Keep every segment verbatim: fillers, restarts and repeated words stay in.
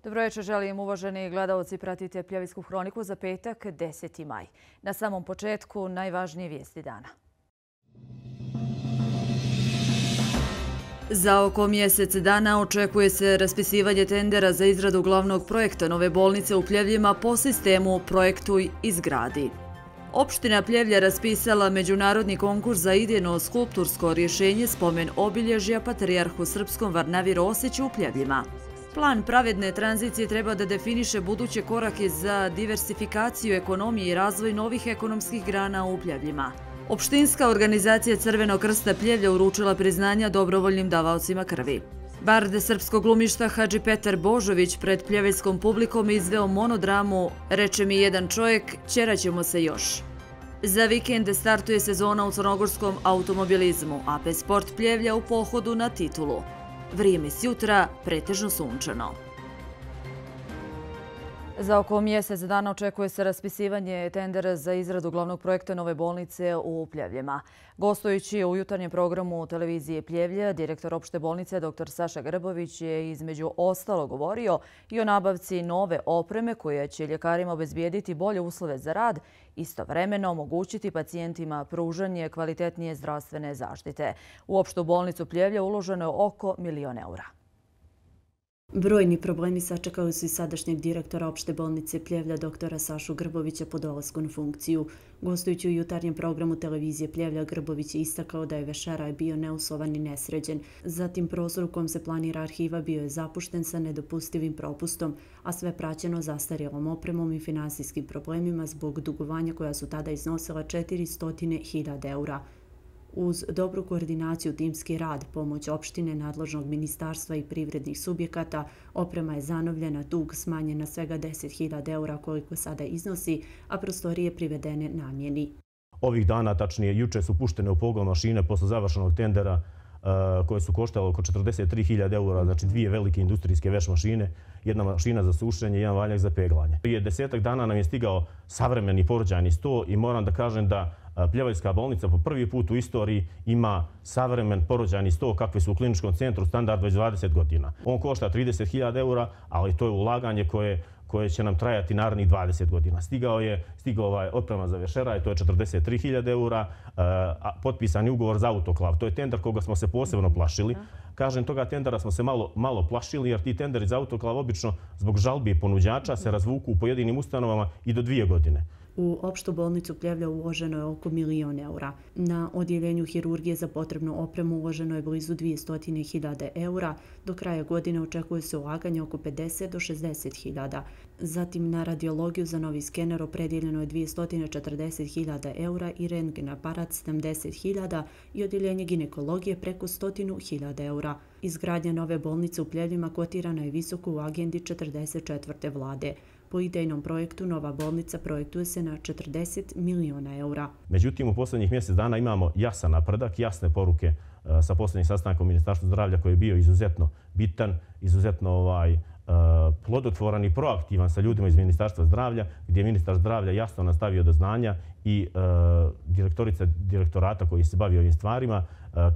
Dobro večer, želim uvaženi gledalci, pratite Pljevljsku hroniku za petak, deseti maj. Na samom početku najvažnije vijesti dana. Za oko mjesec dana očekuje se raspisivanje tendera za izradu glavnog projekta nove bolnice u Pljevljima po sistemu Projektuj izgradi. Opština Pljevlja raspisala međunarodni konkurs za idejno skulptursko rješenje spomen obilježja Patrijarhu srpskom Varnavi Rosiću u Pljevljima. Plan pravedne tranzicije treba da definiše buduće korake za diversifikaciju ekonomije i razvoj novih ekonomskih grana u Pljevljima. Opštinska organizacija Crvenog krsta Pljevlja uručila priznanja dobrovoljnim davaocima krvi. Bard srpskog glumišta Hadži Petar Božović pred pljevljskom publikom izveo monodramu "Reče mi jedan čovjek, ćeraćemo se još". Za vikend startuje sezona u crnogorskom automobilizmu, a P Sport Pljevlja u pohodu na titulu. Vrijeme s jutra pretežno sunčano. Za oko mjesec dana očekuje se raspisivanje tendera za izradu glavnog projekta nove bolnice u Pljevljima. Gostujući u jutarnjem programu televizije Pljevlja, direktor opšte bolnice dr Saša Grbović je između ostalo govorio i o nabavci nove opreme koja će ljekarima obezbijediti bolje uslove za rad, istovremeno omogućiti pacijentima pružanje kvalitetnije zdravstvene zaštite. U opštu bolnicu Pljevlja uloženo je oko milion eura. Brojni problemi sačekali su i sadašnjeg direktora opšte bolnice Pljevlja doktora Sašu Grbovića po dolasku na funkciju. Gostujući u jutarnjem programu televizije Pljevlja, Grbović je istakao da je vešeraj bio neusovan i nesređen. Zatim prostor u kom se planira arhiva bio je zapušten sa nedopustivim propustom, a sve praćeno zastarjelom opremom i finansijskim problemima zbog dugovanja koja su tada iznosila četiristo hiljada eura. Uz dobru koordinaciju, timski rad, pomoć opštine, nadležnog ministarstva i privrednih subjekata, oprema je zanovljena, dug smanjen na svega deset hiljada eura koliko sada iznosi, a prostorije privedene namjeni. Ovih dana, tačnije juče, su puštene u pogon mašine posle završenog tendera koje su koštale oko četrdeset tri hiljade eura, znači dvije velike industrijske veš mašine, jedna mašina za sušenje i jedan valjak za peglanje. Prije desetak dana nam je stigao savremeni porođajni sto i moram da kažem da Pljevljska bolnica po prvi put u istoriji ima savremen porođajni sto kakve su u kliničkom centru standard već dvadeset godina. On košta trideset hiljada eura, ali to je ulaganje koje koje će nam trajati narednih dvadeset godina. Stigao je stigao ovaj oprema za vešeraj, to je četrdeset tri hiljade eura, a potpisan je ugovor za autoklav. To je tender koga smo se posebno plašili. Kažem, toga tendera smo se malo, malo plašili jer ti tenderi za autoklav obično zbog žalbi ponuđača se razvuku u pojedinim ustanovama i do dvije godine. U opštu bolnicu Pljevlja uloženo je oko milion eura. Na odjeljenju hirurgije za potrebnu opremu uloženo je blizu dvjesto hiljada eura. Do kraja godine očekuje se ulaganje oko pedeset do šezdeset hiljada. Zatim na radiologiju za novi skener opredjeljeno je dvjesto četrdeset hiljada eura i rentgen aparat sedamdeset hiljada i odjeljenje ginekologije preko sto hiljada eura. Izgradnja nove bolnice u Pljevljima kotirana je visoko u agendi četrdeset četvrte vlade. Po idejnom projektu nova bolnica projektuje se na četrdeset miliona eura. Međutim, u posljednjih mjesec dana imamo jasan napredak, jasne poruke sa posljednjih sastankom Ministarstva zdravlja koji je bio izuzetno bitan, izuzetno ovaj, plodotvoran i proaktivan sa ljudima iz Ministarstva zdravlja, gdje je ministar zdravlja jasno nastavio do znanja i direktorica direktorata koji se bavi ovim stvarima,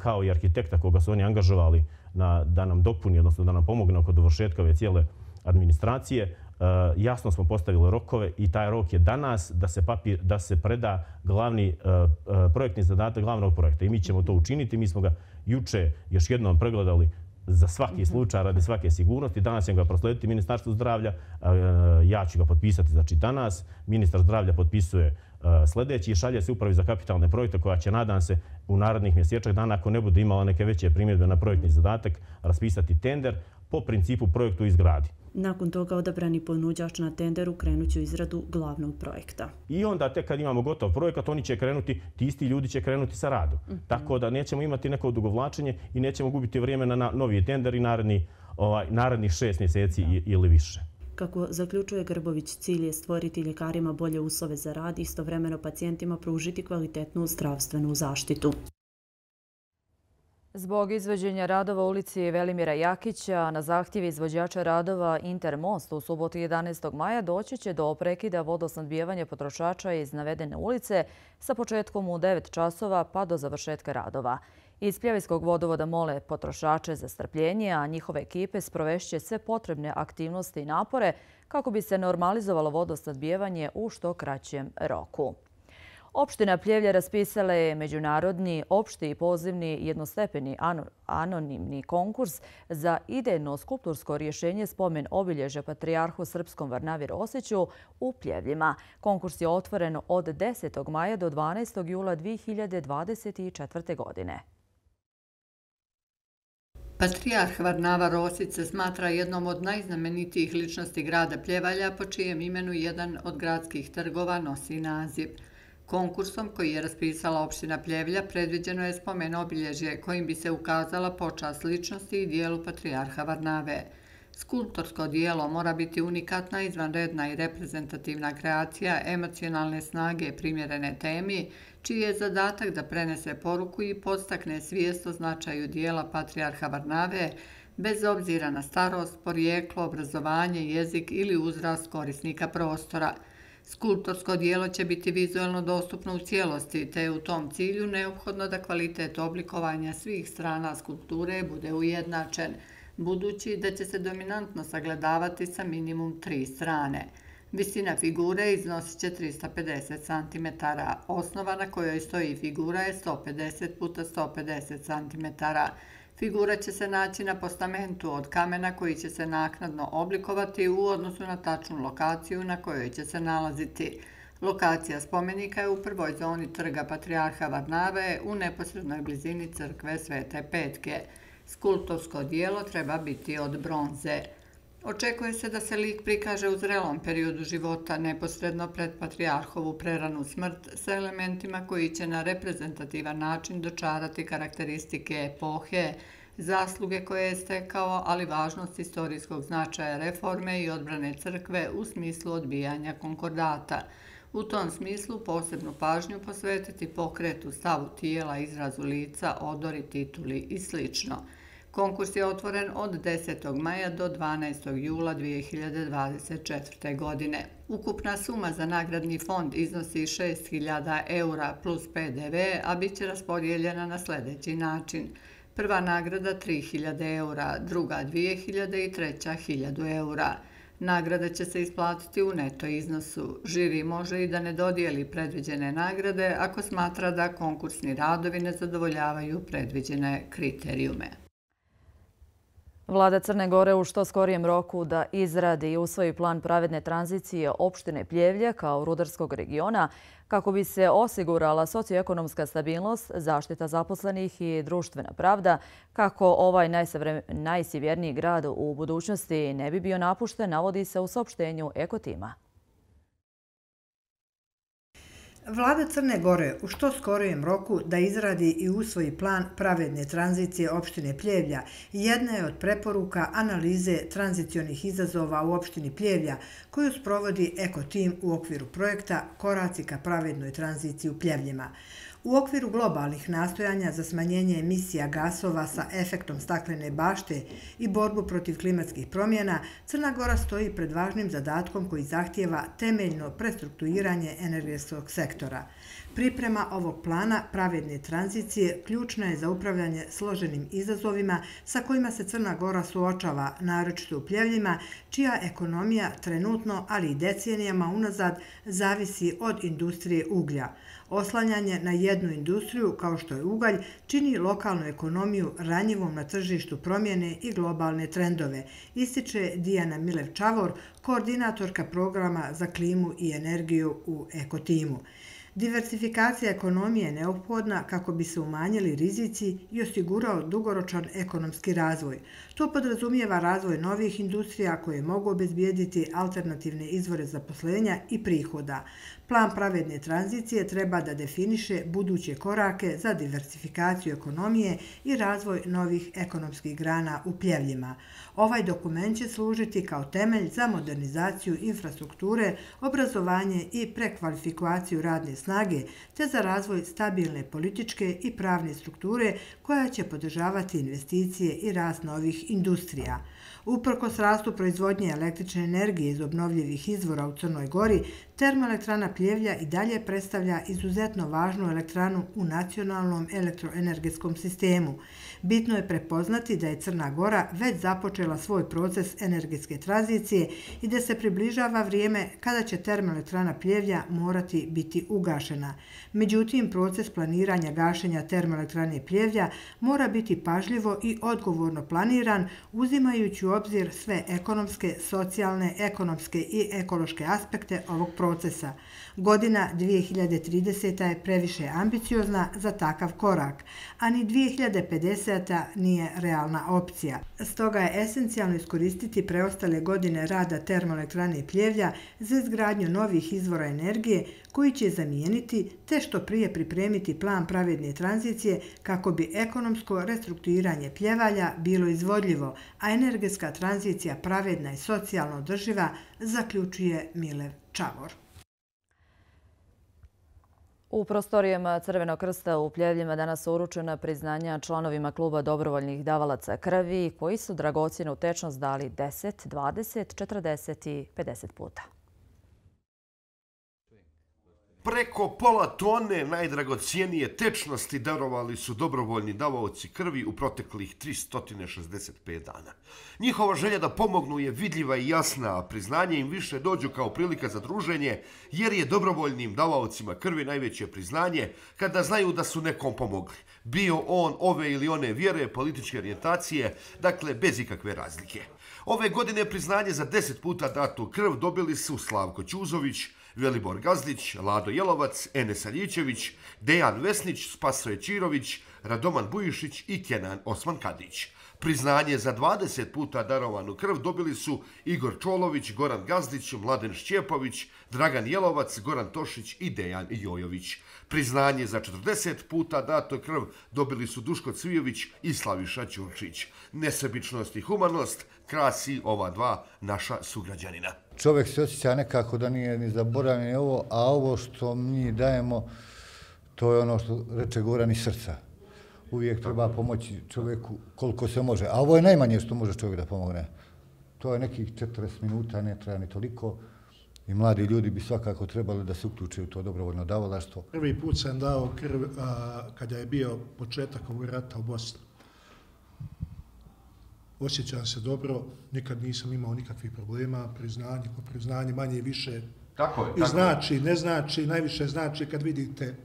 kao i arhitekta koga su oni angažovali na, da nam dopuni, odnosno da nam pomogne oko dovršetka ove cijele administracije. Jasno smo postavili rokove i taj rok je danas da se, papir, da se preda glavni projektni zadatak glavnog projekta. I mi ćemo to učiniti. Mi smo ga juče još jednom pregledali za svaki slučaj, radi svake sigurnosti. Danas ćemo ga proslediti Ministarstvu zdravlja. Ja ću ga potpisati znači danas. Ministar zdravlja potpisuje sljedeći i šalje se upravi za kapitalne projekte koja će, nadam se, u narednih mjesečnih dana, ako ne bude imala neke veće primjedbe na projektni zadatak, raspisati tender po principu projektu izgradi. Nakon toga odabrani ponuđač na tenderu krenut će u izradu glavnog projekta. I onda tek kad imamo gotov projekat, oni će krenuti, ti isti ljudi će krenuti sa radom. Mm-hmm. Tako da nećemo imati neko odugovlačenje i nećemo gubiti vrijeme na novi tender i naredni, ovaj, narednih šest mjeseci da. ili više. Kako zaključuje Grbović, cilj je stvoriti ljekarima bolje uslove za rad i istovremeno pacijentima pružiti kvalitetnu zdravstvenu zaštitu. Zbog izvođenja radova u ulici Velimira Jakića na zahtjev izvođača radova Intermost u subotu jedanaestog maja doći će do prekida vodosnabdijevanja potrošača iz navedene ulice sa početkom u devet časova pa do završetka radova. Iz Pljevljskog vodovoda mole potrošače za strpljenje, a njihove ekipe sprovešće sve potrebne aktivnosti i napore kako bi se normalizovalo vodosnabdijevanje u što kraćem roku. Opština Pljevlja raspisala je međunarodni, opšti i pozivni jednostepeni anonimni konkurs za idejno skulptursko rješenje spomen obilježja Patrijarhu Srpskom Varnavi Rosiću u Pljevljima. Konkurs je otvoren od desetog maja do dvanaestog jula dvije hiljade dvadeset četvrte. godine. Patrijarh Varnava Rosić se smatra jednom od najznamenitijih ličnosti grada Pljevalja, po čijem imenu jedan od gradskih trgova nosi naziv. Konkursom koji je raspisala opština Pljevlja predviđeno je spomen obilježje kojim bi se ukazala počast ličnosti i dijelu Patrijarha Varnave. Skulptorsko dijelo mora biti unikatna, izvanredna i reprezentativna kreacija emocionalne snage primjerene temi, čiji je zadatak da prenese poruku i podstakne svijest o značaju dijela Patrijarha Varnave, bez obzira na starost, porijeklo, obrazovanje, jezik ili uzrast korisnika prostora. Skulptorsko dijelo će biti vizualno dostupno u cijelosti, te je u tom cilju neophodno da kvalitet oblikovanja svih strana skulpture bude ujednačen, budući da će se dominantno sagledavati sa minimum tri strane. Visina figure iznosit će trista pedeset centimetara. Osnova na kojoj stoji figura je sto pedeset puta sto pedeset centimetara. Figura će se naći na postamentu od kamena koji će se naknadno oblikovati u odnosu na tačnu lokaciju na kojoj će se nalaziti. Lokacija spomenika je u prvoj zoni trga Patrijarha Varnave u neposrednoj blizini crkve Svete Petke. Skulptorsko dijelo treba biti od bronze. Očekuje se da se lik prikaže u zrelom periodu života, neposredno pred patrijarhovu preranu smrt, sa elementima koji će na reprezentativan način dočarati karakteristike epohe, zasluge koje je stekao, ali važnost istorijskog značaja reforme i odbrane crkve u smislu odbijanja konkordata. U tom smislu posebnu pažnju posvetiti pokretu, stavu tijela, izrazu lica, odori, tituli i sl. Konkurs je otvoren od desetog maja do dvanaestog jula dvije hiljade dvadeset četvrte. godine. Ukupna suma za nagradni fond iznosi šest hiljada eura plus pe de ve, a bit će raspodijeljena na sljedeći način. Prva nagrada tri hiljade eura, druga dvije hiljade i treća hiljadu eura. Nagrada će se isplatiti u neto iznosu. Žiri može i da ne dodijeli predviđene nagrade ako smatra da konkursni radovi ne zadovoljavaju predviđene kriterijume. Vlada Crne Gore u što skorijem roku da izradi i usvoji plan pravedne tranzicije opštine Pljevlje kao rudarskog regiona kako bi se osigurala socioekonomska stabilnost, zaštita zaposlenih i društvena pravda, kako ovaj najsjeverniji grad u budućnosti ne bi bio napušten, navodi se u saopštenju Ekotima. Vlada Crne Gore u što skorijem roku da izradi i usvoji plan pravedne tranzicije opštine Pljevlja jedna je od preporuka analize tranzicionih izazova u opštini Pljevlja koju sprovodi Ekotim u okviru projekta Koraci ka pravednoj tranziciji u Pljevljima. U okviru globalnih nastojanja za smanjenje emisija gasova sa efektom staklene bašte i borbu protiv klimatskih promjena, Crna Gora stoji pred važnim zadatkom koji zahtijeva temeljno prestrukturiranje energetskog sektora. Priprema ovog plana pravedne tranzicije ključna je za upravljanje složenim izazovima sa kojima se Crna Gora suočava, naročito u Pljevljima, čija ekonomija trenutno, ali i decenijama unazad, zavisi od industrije uglja. Oslanjanje na jednu industriju, kao što je ugalj, čini lokalnu ekonomiju ranjivom na tržištu promjene i globalne trendove, ističe Dijana Milev-Čavor, koordinatorka programa za klimu i energiju u Ekotimu. Diversifikacija ekonomije je neophodna kako bi se umanjili rizici i osigurao dugoročan ekonomski razvoj. To podrazumijeva razvoj novih industrija koje mogu obezbijediti alternativne izvore zaposlenja i prihoda. Plan pravedne tranzicije treba da definiše buduće korake za diversifikaciju ekonomije i razvoj novih ekonomskih grana u Pljevljima. Ovaj dokument će služiti kao temelj za modernizaciju infrastrukture, obrazovanje i prekvalifikaciju radne snage snage te za razvoj stabilne političke i pravne strukture koja će podržavati investicije i rast novih industrija. Uprkos rastu proizvodnje električne energije iz obnovljivih izvora u Crnoj Gori, termoelektrana Pljevlja i dalje predstavlja izuzetno važnu elektranu u nacionalnom elektroenergetskom sistemu. Bitno je prepoznati da je Crna Gora već započela svoj proces energetske tranzicije i da se približava vrijeme kada će termoelektrana Pljevlja morati biti ugašena. Međutim, proces planiranja gašenja termoelektrane Pljevlja mora biti pažljivo i odgovorno planiran, uzimajući u obzir sve ekonomske, socijalne, ekonomske i ekološke aspekte ovog procesa. Godina dvije hiljade trideseta je previše ambiciozna za takav korak, a ni dvije hiljade pedeseta nije realna opcija. Stoga je esencijalno iskoristiti preostale godine rada termoelektrane Pljevlja za izgradnju novih izvora energije koji će zamijeniti te što prije pripremiti plan pravedne tranzicije kako bi ekonomsko restrukturiranje Pljevalja bilo izvodljivo, a energetska tranzicija pravedna i socijalno održiva, zaključuje Milev Čavor. U prostorijama Crvenog krsta u Pljevljima danas su uručena priznanja članovima kluba dobrovoljnih davalaca krvi koji su dragocjenu tečnost dali deset, dvadeset, četrdeset i pedeset puta. Preko pola tone najdragocijenije tečnosti darovali su dobrovoljni davaoci krvi u proteklih tristo šezdeset pet dana. Njihova želja da pomognu je vidljiva i jasna, a priznanje im više dođu kao prilika za druženje, jer je dobrovoljnim davaocima krvi najveće priznanje kada znaju da su nekom pomogli. Bio on ove ili one vjere, političke orijentacije, dakle bez ikakve razlike. Ove godine priznanje za deset puta datu krv dobili su Slavko Ćuzović, Velibor Gazdić, Lado Jelovac, Enes Aljićević, Dejan Vesnić, Spasoje Čirović, Radoman Bujišić i Kenan Osman Kadić. Priznanje za dvadeset puta darovanu krv dobili su Igor Čolović, Goran Gazdić, Mladen Šćepović, Dragan Jelovac, Goran Tošić i Dejan Jojović. Priznanje za četrdeset puta dato krv dobili su Duško Cvijović i Slaviša Ćurčić. Nesebičnost i humanost krasi ova dva naša sugrađanina. Čovjek se osjeća nekako da nije ni zaboravljen ovo, a ovo što mi dajemo, to je ono što reče Goran iz srca. Uvijek treba pomoći čovjeku koliko se može. A ovo je najmanje što može čovjek da pomogne. To je nekih četrdeset minuta, ne treba ni toliko. I mladi ljudi bi svakako trebali da se uključe u to dobrovoljno davalaštvo. Prvi put sam dao krv a, kada je bio početak ovog rata u Bosni. Osjećam se dobro, nikad nisam imao nikakvih problema, priznanje po priznanje, manje i više. Tako je, I znači, ne znači, najviše znači kad vidite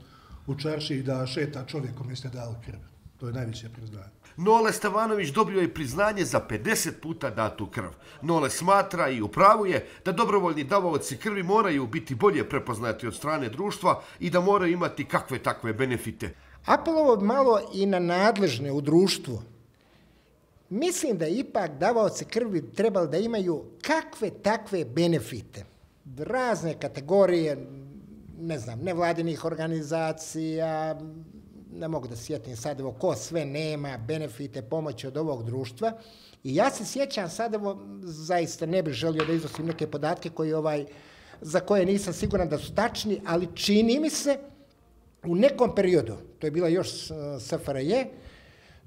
u čaršiji da šeta čovjek kome ste dali krv. To je najveće priznanje. Nole Stevanović dobio je priznanje za pedeset puta datu krv. Nole smatra i upravu je da dobrovoljni davaoci krvi moraju biti bolje prepoznati od strane društva i da moraju imati kakve takve benefite. Apelovo malo i na nadležne u društvu. Mislim da ipak davaoci krvi trebali da imaju kakve takve benefite. Razne kategorije, ne znam, nevladinih organizacija, ne mogu da sjetim sad evo ko sve nema benefite pomoći od ovog društva. I ja se sjećam sad evo, zaista ne bih želio da iznosim neke podatke koji, ovaj, za koje nisam siguran da su tačni, ali čini mi se u nekom periodu, to je bila još S F R J,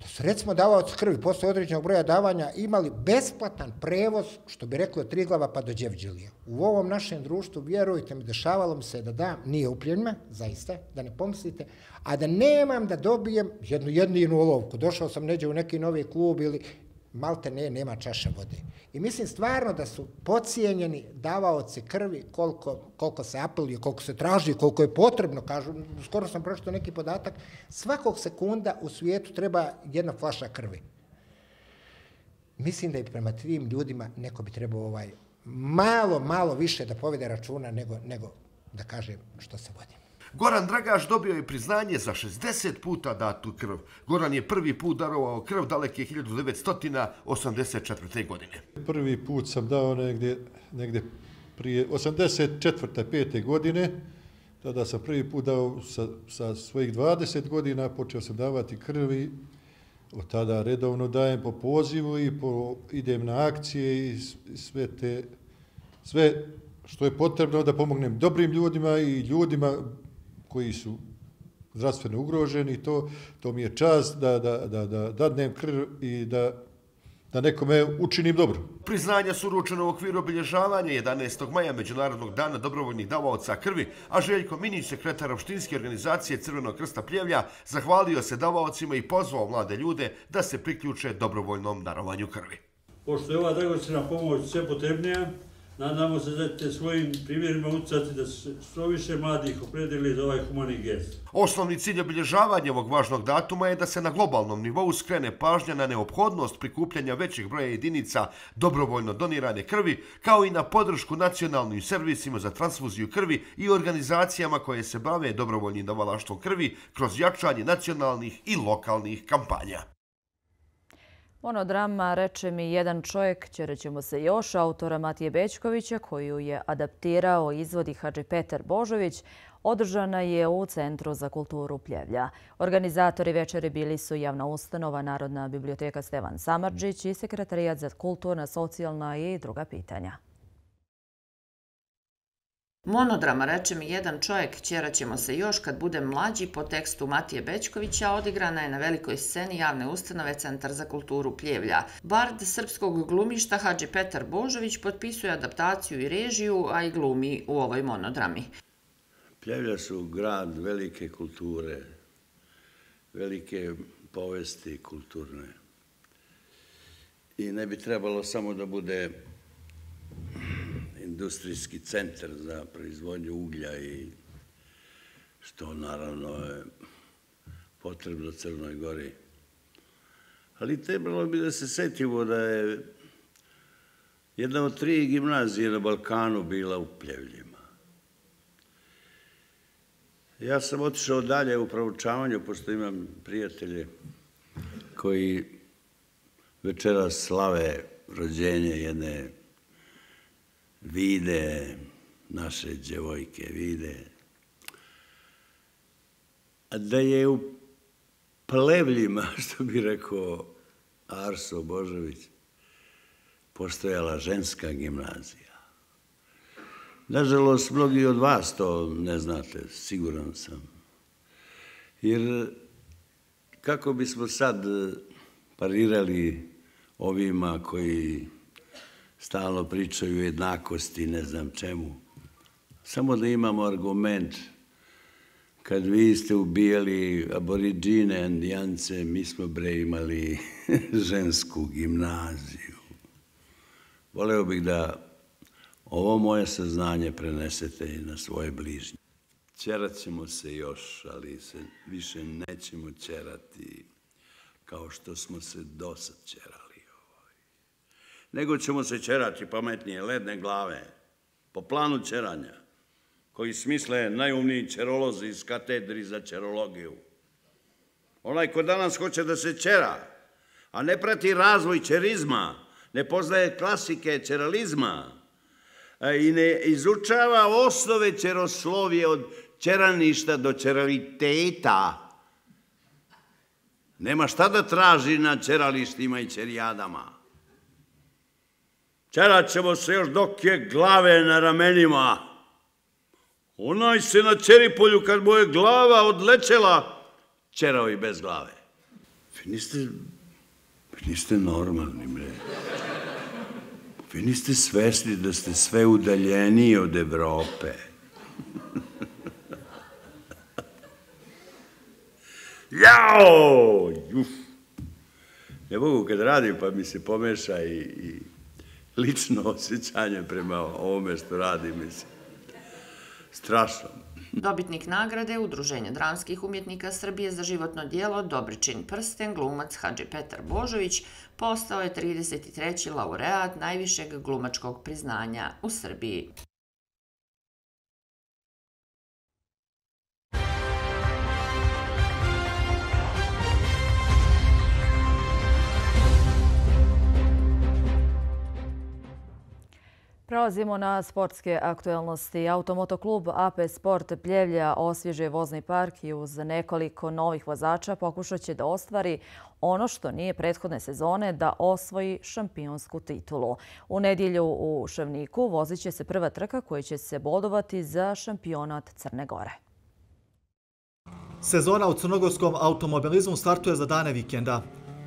da su recimo davaoci krvi posle određenog broja davanja imali besplatan prevoz, što bi rekli od Triglava pa do Đevđelije. U ovom našem društvu, vjerujte mi, dešavalo mi se da dam, nije upljenjima, zaista, da ne pomislite, a da nemam da dobijem jednu jedinu olovku. Došao sam neđe u neki novi klub ili malte ne, nema čaša vode. I mislim stvarno da su podcijenjeni davaoci krvi koliko, koliko se apeluje, koliko se traži, koliko je potrebno, kažu, skoro sam pročitao neki podatak, svakog sekunda u svijetu treba jedna flaša krvi. Mislim da i prema tim ljudima neko bi trebao ovaj, malo, malo više da povede računa nego, nego da kaže što se vodi. Goran Dragaš dobio je priznanje za šezdeset puta datu krv. Goran je prvi put darovao krv daleke hiljadu devetsto osamdeset četvrte. godine. Prvi put sam dao negdje, negdje prije osamdeset četvrte pete. godine. Tada sam prvi put dao sa, sa svojih dvadeset godina, počeo sam davati krvi. Od tada redovno dajem po pozivu i po, idem na akcije i sve te, sve što je potrebno da pomognem dobrim ljudima i ljudima koji su zdravstveno ugroženi. To, to mi je čast da, da, da, da dadnem krv i da, da nekome učinim dobro. Priznanja su uručena u okviru obilježavanja jedanaestog maja Međunarodnog dana dobrovoljnih davaoca krvi, a Željko Minić, sekretar opštinske organizacije Crvenog krsta Pljevlja, zahvalio se davaocima i pozvao mlade ljude da se priključe dobrovoljnom darovanju krvi. Pošto je ova dragocjena pomoć sve potrebnija, nadamo se da ćete svojim primjerima utjecati da se što više mladih opredeli za ovaj humani gest. Osnovni cilj obilježavanja ovog važnog datuma je da se na globalnom nivou skrene pažnja na neophodnost prikupljanja većih broja jedinica dobrovoljno donirane krvi, kao i na podršku nacionalnim servisima za transfuziju krvi i organizacijama koje se bave dobrovoljnim davalaštvom krvi kroz jačanje nacionalnih i lokalnih kampanja. Monodrama Reče mi jedan čovjek, ćerećemo se još, autora Matije Bećkovića, koju je adaptirao i izvodi Hadži Petar Božović, održana je u Centru za kulturu Pljevlja. Organizatori večeri bili su javna ustanova Narodna biblioteka Stevan Samardžić i Sekretarijat za kulturna, socijalna i druga pitanja. Monodrama Reče mi jedan čovjek, ćeraćemo se još kad budem mlađi, po tekstu Matije Bećkovića, odigrana je na velikoj sceni javne ustanove Centar za kulturu Pljevlja. Bard srpskog glumišta Hadži Petar Božović potpisuje adaptaciju i režiju, a i glumi u ovoj monodrami. Pljevlja su grad velike kulture, velike povesti kulturne. I ne bi trebalo samo da bude industrijski centar za proizvodnju uglja i što naravno je potrebno Crnoj Gori. Ali trebalo bi da se setimo da je jedna od tri gimnazije na Balkanu bila u Pljevljima. Ja sam otišao dalje u proučavanju, pošto imam prijatelje koji večeras slave rođenje jedne Vide, naše djevojke Vide, da je u Plevljima, što bi rekao Arso Božović, postojala ženska gimnazija. Nažalost, mnogi od vas to ne znate, siguran sam. Jer kako bismo sad parirali ovima koji stalno pričaju o jednakosti, ne znam čemu. Samo da imamo argument. Kad vi ste ubijali aboriđine, indijance, mi smo bre imali žensku gimnaziju. Voleo bih da ovo moje saznanje prenesete i na svoje bližnje. Ćerat ćemo se još, ali se više nećemo ćerati kao što smo se dosad ćerali. Nego ćemo se ćerati pametnije, ledne glave, po planu ćeranja, koji smisle najumniji ćerolozi iz katedri za ćerologiju. Onaj ko danas hoće da se ćera, a ne prati razvoj ćerizma, ne poznaje klasike ćeralizma i ne izučava osnove ćeroslovije od ćeraništa do ćeraliteta, nema šta da traži na ćeralištima i ćerijadama. Ćerat ćemo se još dok je glave na ramenima. Onaj se na Ćeripolju, kad mu je glava odlećela, ćerao i bez glave. Vi niste, vi niste normalni, bre. Vi niste svesni da ste sve udaljeniji od Evrope. Jao! Juf! Ne mogu kad radim, pa mi se pomeša i... i lično osjećanje prema ovome što radi, mislim. Strašno. Dobitnik nagrade Udruženja dramskih umjetnika Srbije za životno djelo Dobričin prsten, glumac Hadži Petar Božović, postao je trideset treći laureat najvišeg glumačkog priznanja u Srbiji. Prelazimo na sportske aktuelnosti. Automotoklub A P Sport Pljevlja osvježuje vozni park i uz nekoliko novih vozača pokušat će da ostvari ono što nije prethodne sezone, da osvoji šampionsku titulu. U nedjelju u Šavniku vozit će se prva trka koja će se bodovati za šampionat Crne Gore. Sezona u crnogorskom automobilizmu startuje za dane vikenda.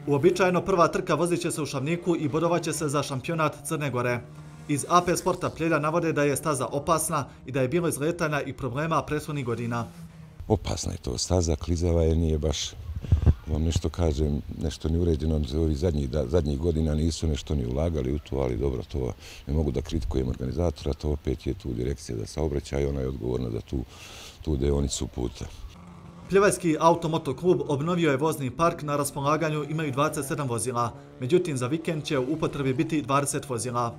Uobičajeno prva trka vozit će se u Šavniku i bodovaće se za šampionat Crne Gore. Iz A P Sporta Pljevlja navode da je staza opasna i da je bilo izletanja i problema prethodnih godina. Opasna je to staza, klizava je, nije baš, vam nešto kažem, nešto neuređeno. Zadnjih, zadnjih godina nisu nešto ni ulagali u to, ali dobro, to ne mogu da kritikujem organizatora, to opet je tu direkcija za saobraćaj i ona je odgovorna za tu, tu deonicu puta. Pljevajski automoto klub obnovio je vozni park, na raspolaganju imaju dvadeset sedam vozila, međutim za vikend će u upotrebi biti dvadeset vozila.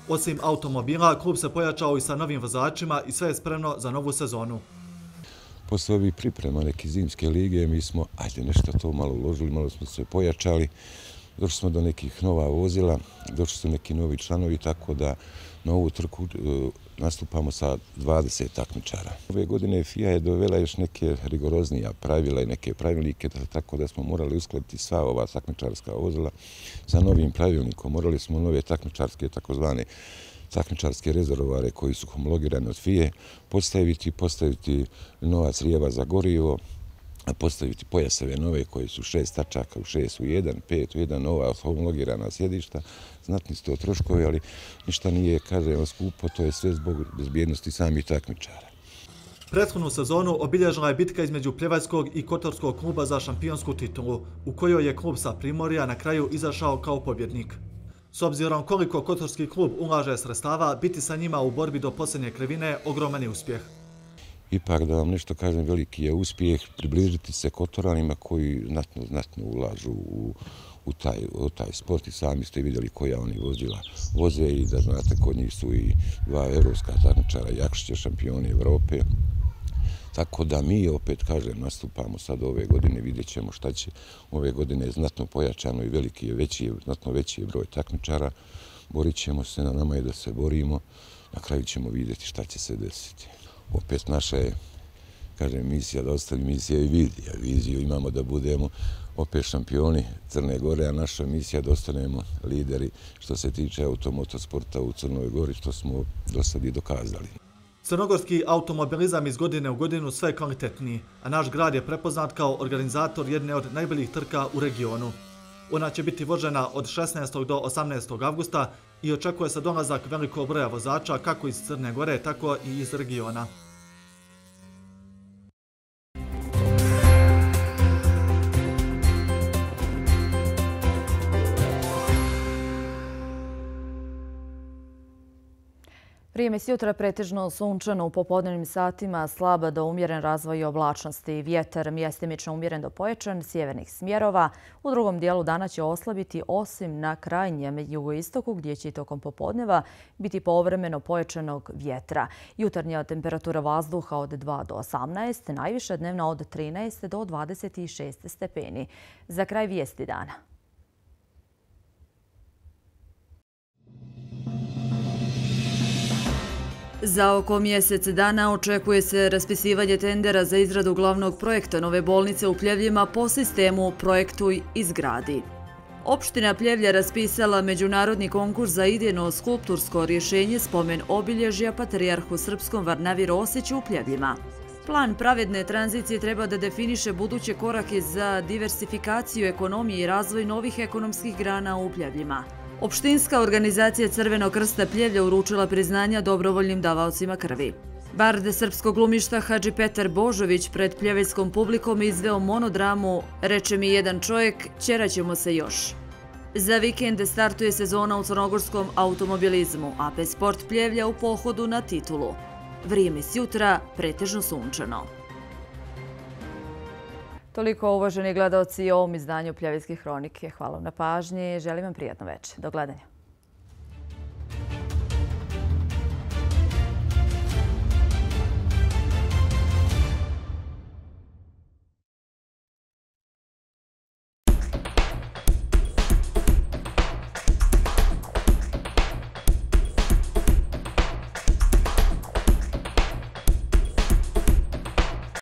Osim automobila, klub se pojačao i sa novim vozačima i sve je spremno za novu sezonu. Posle ovih priprema neke zimske lige, mi smo, ajde, nešto to malo uložili, malo smo se pojačali, došli smo do nekih nova vozila, došli su neki novi članovi, tako da na ovu trku nastupamo sa dvadeset takmičara. Ove godine F I A je dovela još neke rigoroznija pravila i neke pravilnike, tako da smo morali uskladiti sva ova takmičarska vozila sa novim pravilnikom. Morali smo nove takmičarske, takozvane takmičarske rezervoare koji su homologirane od F I A, postaviti, postaviti nova crijeva za gorivo, postaviti pojaseve nove koji su šest tačaka u šest u jedan, pet u jedan, nova homologirana sjedišta. Znatni su to troškovi, ali ništa nije, kažemo, skupo, to je sve zbog bezbjednosti samih takmičara. Prethodnu sezonu obilježila je bitka između Pljevajskog i Kotorskog kluba za šampionsku titulu, u kojoj je klub sa Primorja na kraju izašao kao pobjednik. S obzirom koliko Kotorski klub ulaže sredstava, biti sa njima u borbi do posljednje krivine ogroman je uspjeh. Ipak, da vam nešto kažem, veliki je uspjeh približiti se Kotoranima koji znatno, znatno ulažu u, u, taj, u taj sport i sami ste vidjeli koja oni vozila voze i da znate kod njih su i dva evropska takmičara, Jakšića, šampioni Evrope. Tako da mi, opet kažem, nastupamo sad ove godine, vidjet ćemo šta će. Ove godine je znatno pojačano i veliki je veći, znatno veći je broj takmičara. Borit ćemo se, na nama je da se borimo, na kraju ćemo vidjeti šta će se desiti. Opet naša je, kažem, misija da ostavi misija i vizija. Viziju imamo da budemo opet šampioni Crne Gore, a naša misija da ostanemo lideri što se tiče automotosporta u Crnoj Gori, što smo do sad i dokazali. Crnogorski automobilizam iz godine u godinu sve je kvalitetniji, a naš grad je prepoznat kao organizator jedne od najboljih trka u regionu. Ona će biti vožena od šesnaestog do osamnaestog avgusta i očekuje se dolazak velikog broja vozača kako iz Crne Gore, tako i iz regiona. Vrijeme s jutra pretežno sunčano, u popodnevnim satima slaba do umjeren razvoj oblačnosti. Vjetar mjestimično umjeren do pojačan sjevernih smjerova. U drugom dijelu dana će oslabiti osim na krajnjem jugoistoku gdje će i tokom popodneva biti povremeno pojačanog vjetra. Jutarnja temperatura vazduha od dva do osamnaest, najviša dnevna od trinaest do dvadeset šest stepeni. Za kraj vijesti dana. Za oko mjesec dana očekuje se raspisivanje tendera za izradu glavnog projekta nove bolnice u Pljevljima po sistemu Projektuj, izgradi. Opština Pljevlja raspisala međunarodni konkurs za idejno skulptursko rješenje spomen obilježja Patrijarhu Srpskom Varnavi Rosiću u Pljevljima. Plan pravedne tranzicije treba da definiše buduće korake za diversifikaciju ekonomije i razvoj novih ekonomskih grana u Pljevljima. Opštinska organizacija Crvenog krsta Pljevlja uručila priznanja dobrovoljnim davaocima krvi. Bard srpskog glumišta Hadži Petar Božović pred pljevljskom publikom izveo monodramu Reče mi jedan čovjek, ćeraćemo se još. Za vikend startuje sezona u crnogorskom automobilizmu, A P Sport Pljevlja u pohodu na titulu. Vrijeme s jutra pretežno sunčano. Toliko, uvaženi gledaoci, o ovom izdanju Pljevljske hronike. Hvala vam na pažnji. Želim vam prijatno večer. Do gledanja.